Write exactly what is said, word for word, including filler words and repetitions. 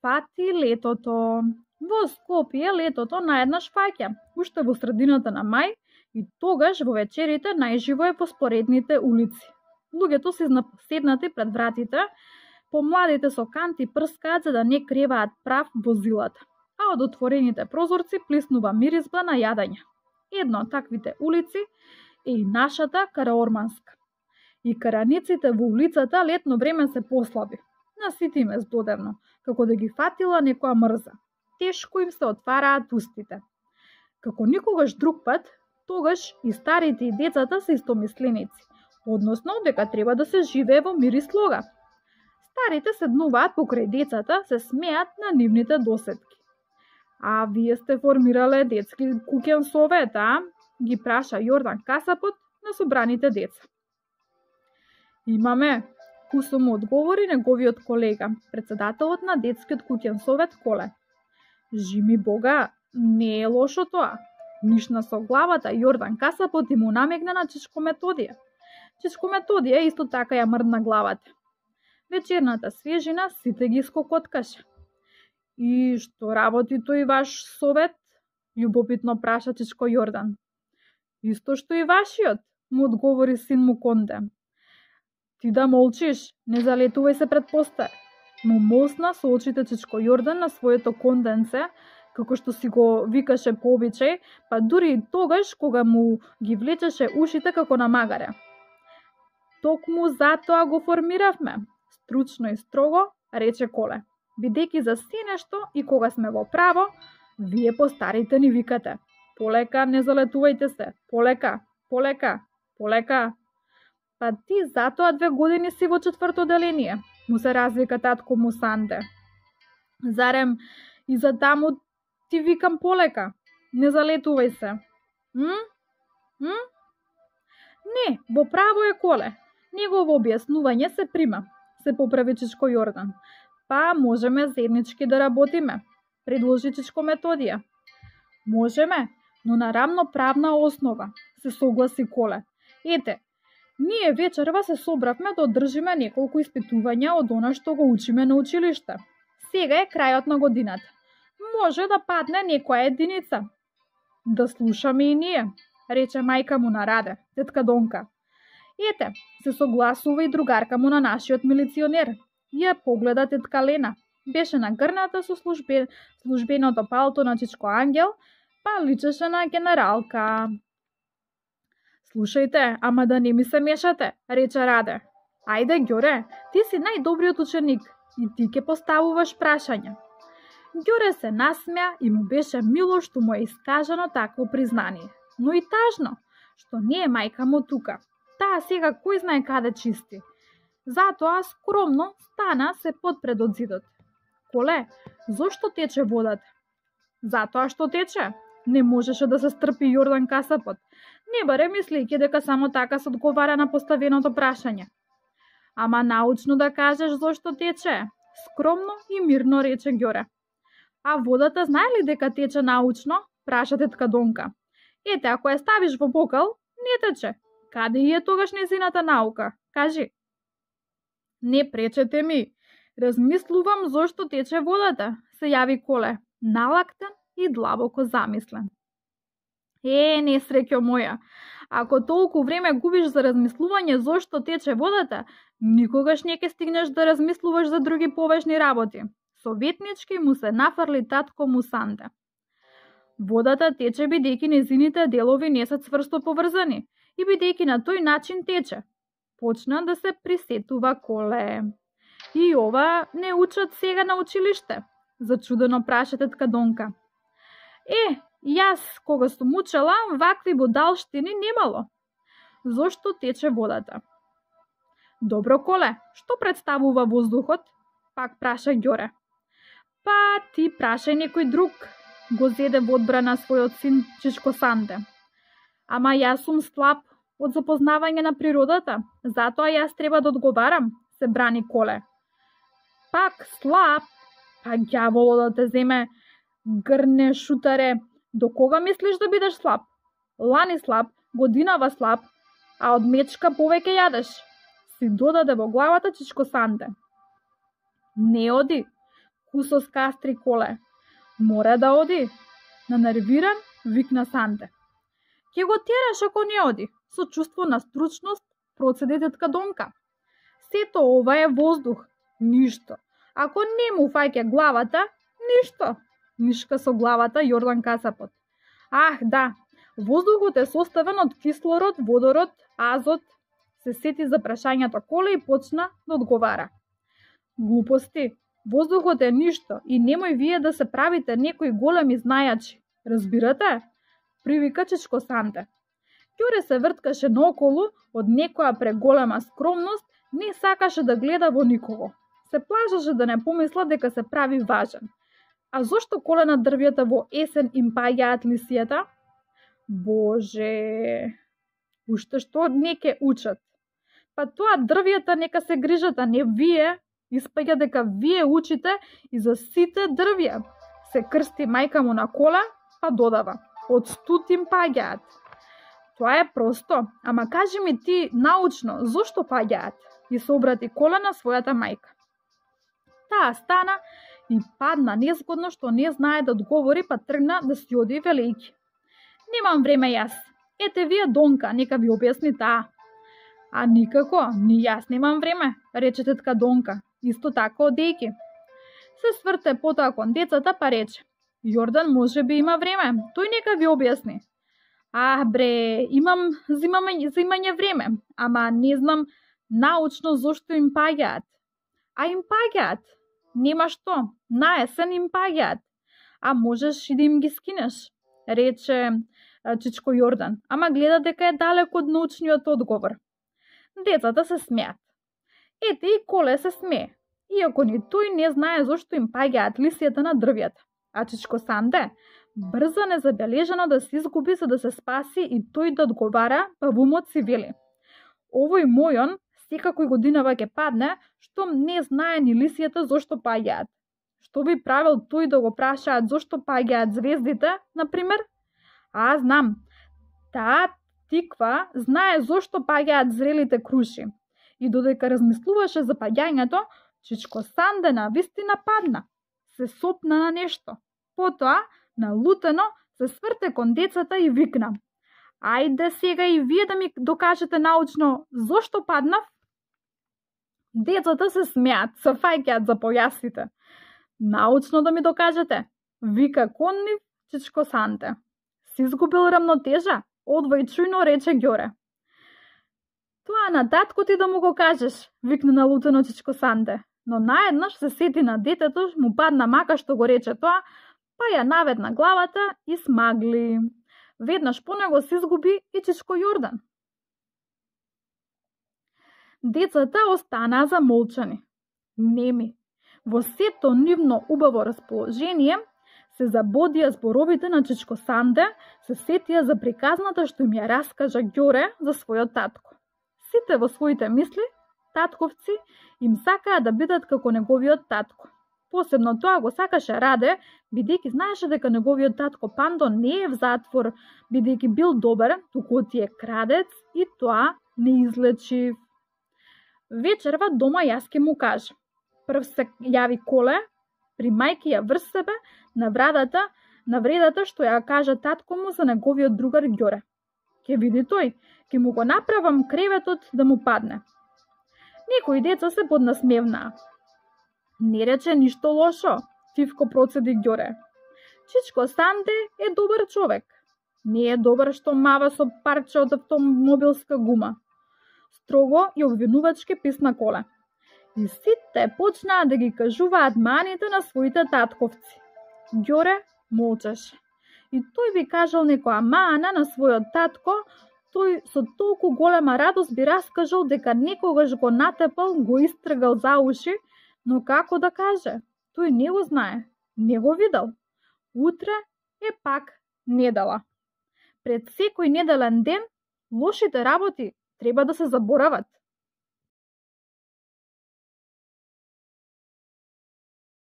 фати летото. Во Скопје летото наеднаш фаќа, уште во средината на мај, и тогаш во вечерите најживо е по споредните улици. Луѓето се седнати пред вратите, помладите со канти прскаат за да не креваат прав возилата, а од отворените прозорци плиснува миризба на јадење. Една од таквите улици е и нашата Караорманска. И караниците во улицата летно време се послаби. Насити ме здодевно, како да ги фатила некоја мрза. Тешко им се отвараат устите. Како никогаш друг пат, тогаш и старите и децата се истомисленици, односно дека треба да се живее во мир и слога. Старите седнуваат покрај децата, се смеат на нивните досетки. А вие сте формирале детски куќен совет, а? Ги праша Јордан Касапот на собраните деца. Имаме, кусо му одговори неговиот колега, председателот на детскиот куќен совет Коле. Жими Бога, не е лошо тоа. Нишна со главата Јордан Касапот и му намегна на Чичко Методија. Чичко Методија исто така ја мрдна главата. Вечерната свежина сите ги скокоткаше. И што работи тој ваш совет? Љубопитно праша Чичко Јордан. Исто што и вашиот, му одговори син му Конде. Ти да молчиш, не залетувај се пред постар. Му молсна со очите Чичко Јордан на своето конденце, како што си го викаше по обичај, па дури и тогаш кога му ги влечеше ушите како на магаре. Токму затоа го формиравме, стручно и строго рече Коле. Бидејќи за се нешто и кога сме во право, вие постарите ни викате. Полека, не залетувајте се, полека, полека, полека. Па ти затоа две години си во четврто деление, му се развика татко му Санде. Зарем и за таму ти викам полека, не залетувај се. М? М? Не, во право е Коле. Негово објаснување се прима, се поправи Чичко Јордан. Па можеме заеднички да работиме, предложи Чичко Методија. Можеме, но на рамноправна основа, се согласи Коле. Ете, ние вечерва се собравме да одржиме неколку испитувања од она што го учиме на училиште. Сега е крајот на годината. Може да падне некоја единица. Да слушаме и ние, рече мајка му на Раде, тетка Донка. Ете, се согласува и другарка му на нашиот милиционер. Ја погледа тетка Лена. Беше нагрната со службе, службеното палто на Чичко Ангел, па личеше на генералка. Слушајте, ама да не ми се мешате, рече Раде. Ајде, Ѓоре, ти си најдобриот ученик и ти ке поставуваш прашања. Ѓоре се насмеа и му беше мило што му е искажано такво признание, но и тажно, што не е мајка му тука. Таа сега кој знае каде чисти. Затоа скромно стана се подпред од зидот. Коле, зошто тече водата? Затоа што тече. Не можеше да се стрпи Јордан Касапот. Не баре мислејќи дека само така се одговара на поставеното прашање. Ама научно да кажеш зошто тече. Скромно и мирно рече Ѓоре. А водата знае ли дека тече научно? Праша тетка Донка. Ете, ако ја ставиш во бокал, не тече. Каде е тогаш незината наука? Кажи. Не пречете ми. Размислувам зошто тече водата, се јави Коле, налактен и длабоко замислен. Е, несреќо моја, ако толку време губиш за размислување зошто тече водата, никогаш не ќе стигнеш да размислуваш за други поважни работи. Советнички му се нафрли татко му Санде. Водата тече бидејќи незините делови не се цврсто поврзани и бидејќи на тој начин тече. Почна да се присетува Коле. И ова не учат сега на училиште, зачудено праша тетка Донка. Е, јас кога сум учела, вакви будалштини немало. Зошто тече водата? Добро, Коле, што представува воздухот? Пак праша Ѓоре. Па ти прашај некој друг, го зеде во одбрана својот син Чичко Санде. Ама јас сум слаб од запознавање на природата, затоа јас треба да одговарам, се брани Коле. Пак слаб, па ѓаволо да те земе, грне шутаре, до кога мислиш да бидеш слаб? Лани слаб, годинава слаб, а од мечка повеќе јадеш, си додаде во главата Чичко Санде. Не оди, Кусос кастри коле. Мора да оди. Нанервиран, викна Санте. Ке го тераш ако не оди. Со чувство на стручност процеди тетка Донка. Сето ова е воздух. Ништо. Ако не му фаќа главата, ништо. Нишка со главата Јордан Касапот. Ах, да. Воздухот е составен од кислород, водород, азот. Се сети за прашањето коле и почна да одговара. Глупости. Воздухот е ништо и немој вие да се правите некои големи знајачи. Разбирате? Привика Чичко Санте. Ѓоре се врткаше наоколу од некоја преголема скромност, не сакаше да гледа во никого. Се плашеше да не помисла дека се прави важен. А зошто коле на дрвјата во есен им паѓаат лисијата? Боже, уште што не ке учат. Па тоа дрвјата нека се грижат, а не вие. Испаѓа дека вие учите и за сите дрвја. Се крсти мајка му на кола, па додава. Од студ им паѓаат. Тоа е просто, ама кажи ми ти научно, зошто паѓаат? И се обрати кола на својата мајка. Таа стана и падна незгодно што не знае да одговори, па тргна да си оди велејки. Немам време јас. Ете вие Донка, нека ви објасни таа. А никако, ни јас немам време, рече тетка Донка, исто така одејки. Се сврте потоа кон децата па рече. Јордан може би има време, тој нека ви објасни. Ах бре, имам зимање, зимање време, ама не знам научно зошто им паѓаат. А им паѓаат. Нема што, на есен им паѓаат. А можеш и да им ги скинеш, рече Чичко Јордан, ама гледа дека е далеко од научниот одговор. Децата се смеат. Ете и Коле се смее, иако ни тој не знае зошто им паѓаат лисијата на дрвјата. А Чичко Санте брза незабележано да се изгуби за да се спаси и тој да одговара, па во умот си вели. Овој мојон секако годинава ќе падне, штом не знае ни лисијата зошто паѓаат. Што би правил тој да го прашаат зошто паѓаат звездите, например? А, знам. Таа тиква знае зошто паѓаат зрелите круши. И додека размислуваше за паѓањето, Чичко Санте на вистина падна. Се сопна на нешто. Потоа, налутено, се сврте кон децата и викна. Ајде сега и вие да ми докажете научно зошто паднав? Децата се смеат, се фаќаат за појасите. Научно да ми докажете, вика кон нив Чичко Санте. Си изгубил рамнотежа, одвајчујно рече Ѓоре. Тоа на татко ти да му го кажеш, викна налутено Чичко Санте. Но наеднаш се сети на детето, му падна мака што го рече тоа, па ја наведна главата и смагли. Веднаш по него се изгуби и Чичко Јордан. Децата останаа замолчани, неми. Во сето нивно убаво расположение се забодија зборовите на Чичко Санте, се сетија за приказната што им ја раскажа Ѓоре за својот татко. Сите во своите мисли, татковци, им сакаа да бидат како неговиот татко. Посебно тоа го сакаше Раде, бидејќи знаеше дека неговиот татко Пандо не е в затвор, бидејќи бил добар, туку тие крадец и тоа не излечив. Вечерва дома јас ке му кажа. Прв се јави Коле, при мајки ја врз себе, на врадата, на вредата што ја кажа татко му за неговиот другар Ѓоре. Ке види тој, ке му го направам креветот да му падне. Некои деца се поднасмевнаа. Не рече ништо лошо, тивко процеди Ѓоре. Чичко Санте е добар човек. Не е добар што мава со парче од автомобилска гума. Строго и обвинувачки писна Коле. И сите почнаа да ги кажуваат маните на своите татковци. Ѓоре молчеше. И тој би кажал некоја мана на својот татко, тој со толку голема радост би раскажал дека некогаш го натепал, го истргал за уши, но како да каже? Тој не го знае, не го видел. Утре е пак недела. Пред секој неделен ден, лошите работи треба да се заборават.